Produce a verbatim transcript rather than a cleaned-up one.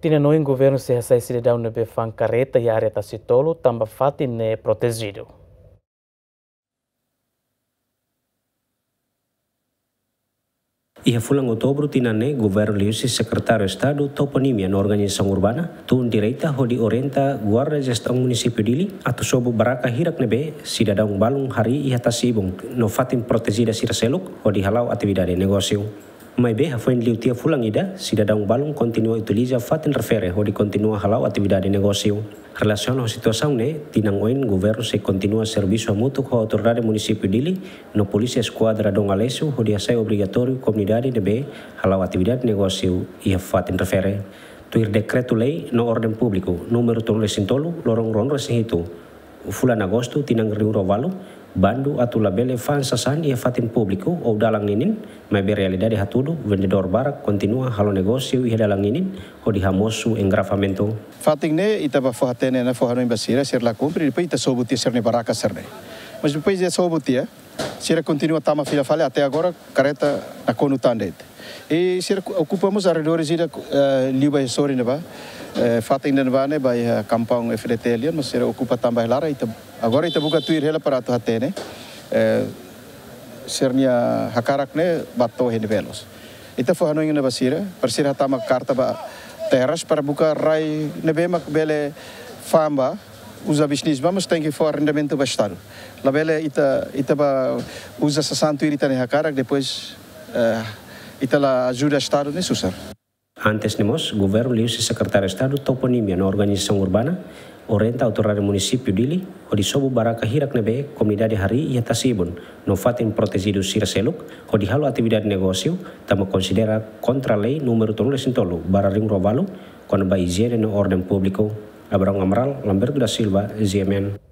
Tinan oin governu sei hasai sidadaun ne'ebé fa'an karreta iha área Tasi Tolu tanba fatin ne'e protejidu. Iha fulan Outubru tinan ne'e, governu liuhusi Sekretáriu Estadu Toponímia no Organizasaun Urbana tun direta hodi orienta Guarda Jestaun Munisípiu Dili atu sobu baraka hirak ne'ebé sidadaun balun harii iha tasi-ibun no fatin protejida sira seluk hodi hala'o atividade negósiu. Maibé hafoin liu tiha fulan ida, sidadaun balun kontinua utiliza fatin refere hodi kontinua hala'o atividade negósiu. Relasiona ho situasaun ne'e, tinan oin governu sei kontinua servisu hamutuk ho Autoridade Munisípiu Dili no Polísia Eskuadra Dom Aleixo hodi hasai obrigatóriu komunidade ne'ebé hala'o atividade negósiu iha fatin refere. Tuir Dekretu-Lei no Orden Públiku númeru tolu resin tolu, loron ruanulu resin hitu, fulan Agostu tinan rihun rua ualu, bandu atu labele fa'an sasán iha fatin públiku ou dalan ninin, maibé realidade hatudu vendedór barak kontinua halo negósiu iha dalan ninin hodi hamosu engarrafamentu. Fatin ne'e ita bá fó hatene ona, fó hanoin ba sira, sira la kumpre, depois ita sobu tiha sira-nia baraka sira-ne'e. Mas depois de sobu tiha, sira kontinua tama fila fali até agora, karreta nakonu tan de'it. I sira ku-, okupa mós arredores ida, eh, liu ba iha sorin ne'ebá, eh, fatin ida ne'ebá ne'e ba iha kampaun F D T L nian, mas sira okupa tan ba iha laran, ita, agora ita buka tuir hela para atu hatene, eh, sira-nia hakarak ne'e bá to'o iha ne'ebé loos. Ita fó hanoin ona ba sira, para sira hatama karta ba terras para buka rai ne'ebé mak bele fa'an ba, uza bisnis ba, mas tenke fó arrendamentu ba Estadu. Labele ita, ita bá uza sasán tuir ita-nia hakarak, depois, eh, ita la ajuda Estadu ne'e susar. Antes ne'e mós, governu liuhusi Sekretáriu Estadu Toponímia no Organizasaun Urbana orienta Autoridade Munisípiu Dili hodi sobu baraka hirak ne'ebé komunidade harii iha tasi-ibun no fatin protejidu sira seluk hodi halo atividade negósiu, tanba konsidera kontra Lei númeru tolu resin tolu barra rihun rua ualu, kona-ba ijiene no orden públiku. Abraão Amaral, Lamberto da Silva, G M N.